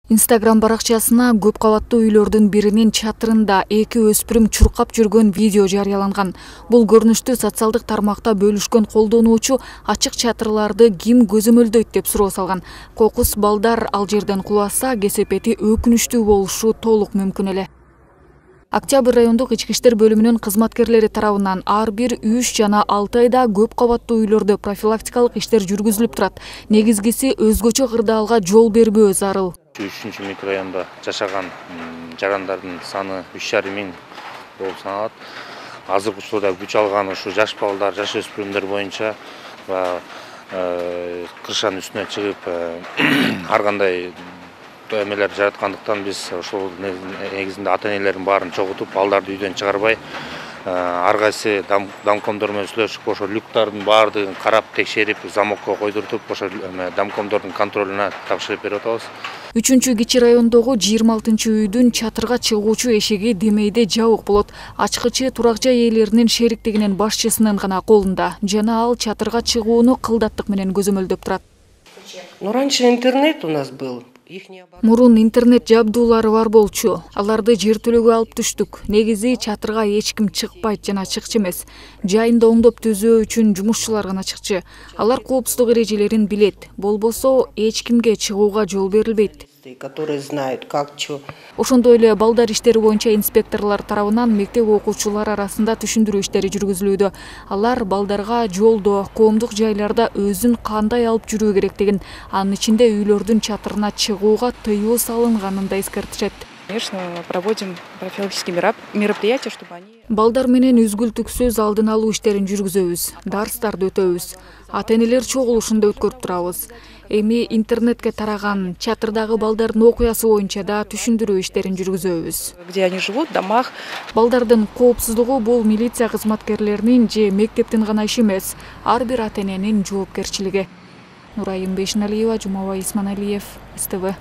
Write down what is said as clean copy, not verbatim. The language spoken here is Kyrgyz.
Instagram баракчасына көп кабаттуу үйлөрдүн биринин чатырында эки өспүрүм чуркап жүргөн видео жарыяланган. Бул көрүнүштү социалдык тармакта бөлүшкөн колдонуучу ачык чатырларды ким көзөмөлдөйт деп суроо салган. Кокус балдар ал жерден куласа, кесепети өкүнүчтүү болушу толук мүмкүн эле. Октябрь райондук ички иштер бөлүмүнүн кызматкерлери тарабынан ар бир 3 жана 6 айда көп кабаттуу үйлөрдө профилактикалык иштер жүргүзүлүп турат. Негизгиси өзгөчө кырдаалга жол бербөө зарыл. 3 микрорайонда жашаган жарандардын саны 3,5 миң болуп саналат. Азыркы учурда күч алган ушу жаш балдар, жаш өспүрүмдөр боюнча кыршанын үстүнө чыгып ар кандай эмелер жараткандыктан биз ошол негизинде ата энелердин баарын чогултуп, балдарды үйдөн чыгарбай, ар кайсы домкомдор менен сүйлөшүп, ошо люктардын баардыгын карап, текшерип, замокко койдуртуп, ошо домкомдордун контролуна тапшырып берип атабыз. 3-кичи райондогу 26-үйдүн чатырга чыгуучу эшиги демейде жабык болот. Ачкычы турак жай ээлеринин шериктигинин башчысынын гана колунда жана ал чатырга чыгууну кылдаттык менен көзөмөлдөп турат. Но раньше интернет у нас был. Мурун интернет жабдуулары бар болчу. Аларды жертөлөгө алып түштүк. Негизи чатырга эч ким чыкпайт жана чыкчы эмес. Жайында оңдоп түзөө үчүн жумушчулар гана чыкчы. Алар коопсуздук эрежелерин билет. Болбосо эч кимге чыгууга жол берилбейт. Которые знают, как что. Ошондой эле балдар иштери боюнча инспекторлор тарабынан мектеп окуучулары арасында түшүндүрүү иштери жүргүзүлүүдө. Алар балдарга жолдо, коомдук жайларда өзүн кандай алып жүрүү керектигин, анын ичинде үйлөрдүн чатырына чыгууга тыюу салынганын да эскертишет. Конечно, проводим профилактические мероприятия, чтобы они... Балдар менен үзгүлтүксүз алдын алуу иштерин жүргүзөбүз, дарстарды өтөбүз. Ата-энелер чогулушунда өткөрүп турабыз. Эми интернетке тараган чатырдагы балдардын окуясы боюнча да түшүндүрүү иштерин жүргүзөбүз. Где они живут, в домах. Балдардын коопсуздугу бул милиция кызматкерлеринин же мектептин гана иши эмес, ар бир ата-эненин жоопкерчилиги. Нурайым Бешиналиева, Жумабай Исманалиев, СТВ.